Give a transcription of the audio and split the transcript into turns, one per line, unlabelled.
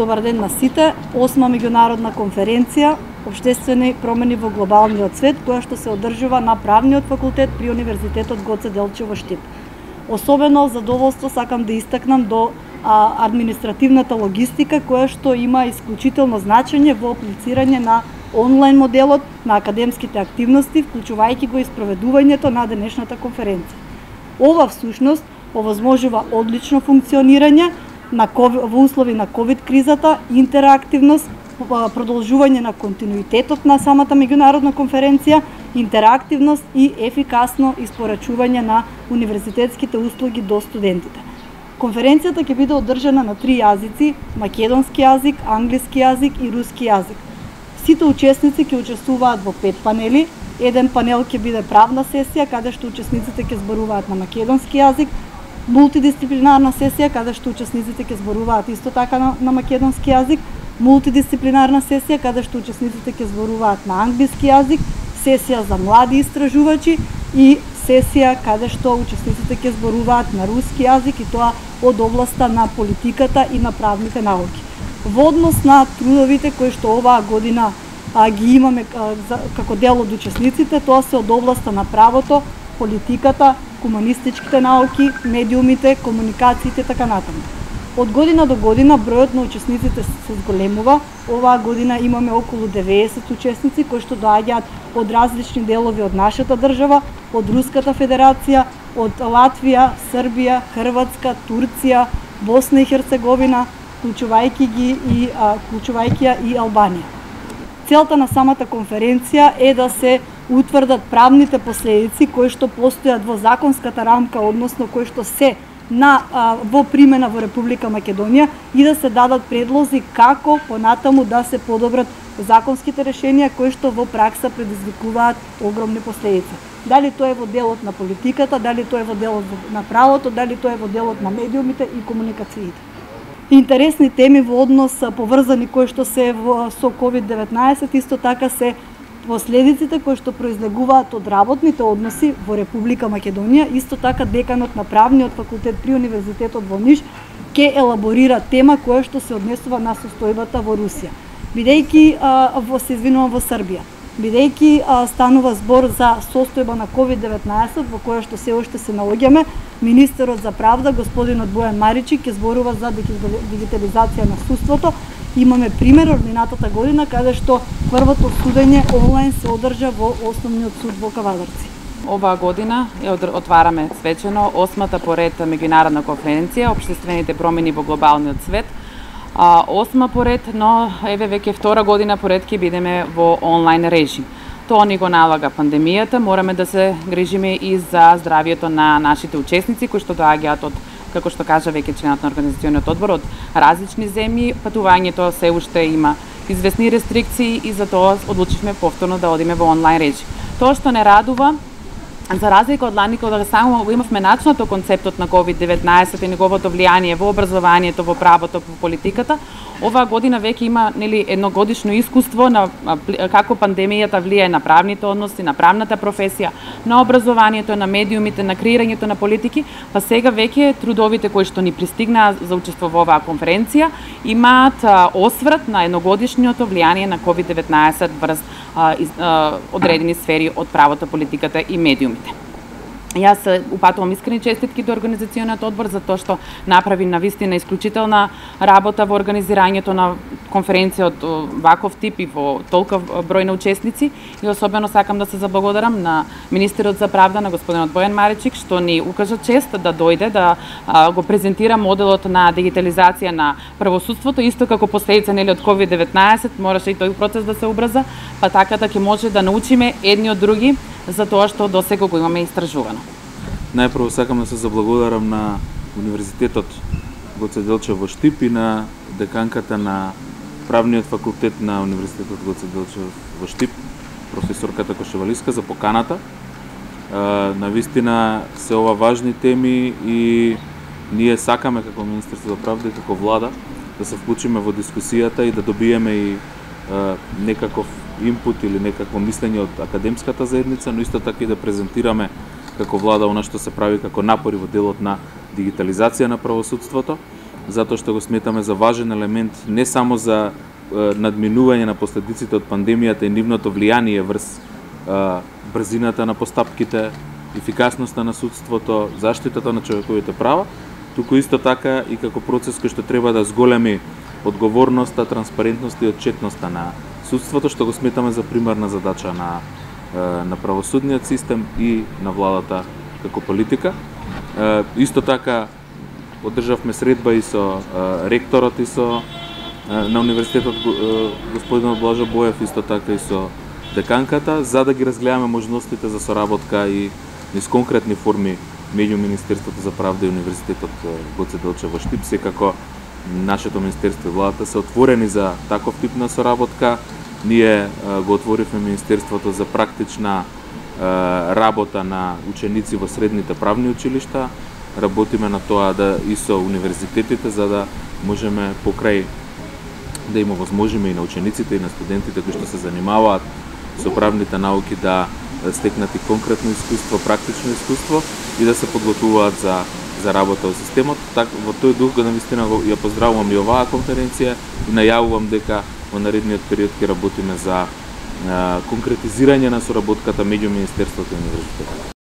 Добар ден на сите. 8-ма меѓународна конференција Обштествени промени во глобалниот свет, која што се одржува на Правниот факултет при Универзитетот Гоце Делчев во Штип. Особено задоволство сакам да истакнам до административната логистика, која што има исклучително значење во аплицирање на онлайн моделот на академските активности, вклучувајќи го и спроведувањето на денешната конференција. Ова всушност овозможува одлично функционирање во услови на ковид кризата, интерактивност, продолжување на континуитетот на самата меѓународна конференција, интерактивност и ефикасно испорачување на универзитетските услуги до студентите. Конференцијата ќе биде одржана на 3 јазици: македонски јазик, англиски јазик и руски јазик. Сите учесници ќе учествуваат во 5 панели. Еден панел ќе биде правна сесија, каде што учесниците ќе зборуваат на македонски јазик, мултидисциплинарна сесија, каде што учесниците ќе зборуваат исто така на македонски јазик, мултидисциплинарна сесија, каде што учесниците ќе зборуваат на англиски јазик, сесија за млади истражувачи и сесија каде што учесниците ќе зборуваат на руски јазик, и тоа од областа на политиката и на правните науки. Во однос на трудовите кои што оваа година ги имаме како дел од учесниците, тоа се од областа на правото, политиката, хуманистичките науки, медиумите, комуникациите, така натаму. Од година до година бројот на учесниците се зголемува. Оваа година имаме околу 90 учесници кои што доаѓаат од различни делови од нашата држава, од Руската Федерација, од Латвија, Србија, Хрватска, Турција, Босна и Херцеговина, вклучувајќи ја и Албанија. Целта на самата конференција е да се утврдат правните последици кои што постојат во законската рамка, односно кои што се во примена во Република Македонија, и да се дадат предлози како понатаму да се подобрат законските решенија кои што во пракса предизвикуваат огромни последици. Дали тоа е во делот на политиката, дали тоа е во делот на правото, дали тоа е во делот на медиумите и комуникациите. Интересни теми во однос поврзани кои што се со COVID-19, исто така се последиците кои што произлегуваат од работните односи во Република Македонија. Исто така деканот на Правниот факултет при Универзитетот во Ниш ќе елаборира тема која што се однесува на состојбата во Русија. Во Србија. Бидејќи станува збор за состојба на COVID-19 во која што се уште се наоѓаме, министерот за правда, господинот Бојан Маричик, ќе зборува за дигитализација на судството. Имаме пример од минатата година каде што првото судење онлайн се одржа во Основниот суд во Кавадарци.
Оваа година отвараме свечено 8-та поред меѓународна конференција Обштествените промени во глобалниот свет. 8-ма поред, но еве веќе 2-ра година поред ќе бидеме во онлайн режим. Тоа ни го налага пандемијата, мораме да се грижиме и за здравието на нашите учесници кои што доаѓаат од, како што кажа веќе членот на организациониот одбор, од различни земји. Патувањето се уште има известни рестрикции и затоа одлучивме повторно да одиме во онлайн режим. Тоа што не радува, за разлика од лани кога само го имавме начинато концептот на COVID-19 и неговото влијание во образованието, во правото, во политиката, оваа година веќе има едногодишно искуство на како пандемијата влијае на правните односи, на правната професија, на образованието, на медиумите, на креирањето на политики, па сега веќе трудовите кои што ни пристигнаа за учество во оваа конференција имаат осврт на едногодишното влијание на COVID-19 врз одредени сфери од правото, политиката и медиумите. Јас упатувам искрени честитки до организациониот одбор за тоа што направи навистина исклучителна работа во организирањето на конференција од ваков тип и во толков број на учесници, и особено сакам да се заблагодарам на министерот за правда, на господинот Бојан Маричик, што ни укажа чест да дојде да го презентира моделот на дигитализација на правосудството, исто како последица од COVID-19, мораше и тој процес да се убрза, па така да ќе може да научиме едни од други за тоа што досега го имаме истражувано.
Најпрво сакам да се заблагодарам на Универзитетот Гоце Делчев во Штип и на деканката на Правниот факултет на Универзитетот Гоце Делчев во Штип, професорката Кошевалиска, за поканата. Навистина се ова важни теми и ние сакаме како Министерство за правда и како влада да се вклучиме во дискусијата и да добиеме и некаков инпут или некакво мислење од академската заедница, но исто така и да презентираме како влада она што се прави како напори во делот на дигитализација на правосудството. затоа што го сметаме за важен елемент не само за надминување на последиците од пандемијата и нивното влијание врз брзината на постапките, ефикасноста на судството, заштитата на човековите права, туку исто така и како процес кој што треба да зголеми одговорноста, транспарентноста и отчетноста на судството, што го сметаме за примарна задача на правосудниот систем и на владата како политика. Исто така одржавме средба и со ректорот и со на универзитетот господин Блажо Боев, исто така и со деканката, за да ги разгледаме можностите за соработка и низ конкретни форми меѓу Министерството за правда и Универзитетот Гоце Делчев во Штип. Секако нашето министерство и владата се отворени за таков тип на соработка. Ние го отворивме Министерството за практична работа на ученици во средните правни училишта. Работиме на тоа да и со универзитетите, за да можеме покрај да им овозможиме и на учениците и на студентите кои што се занимаваат со правните науки да стекнат и конкретно искуство, практично искуство и да се подготвуваат за работа во системот. Во тој дух навистина ја поздравувам и оваа конференција и најавувам дека во наредниот период ќе работиме за конкретизирање на соработката меѓу Министерството и Универзитетот.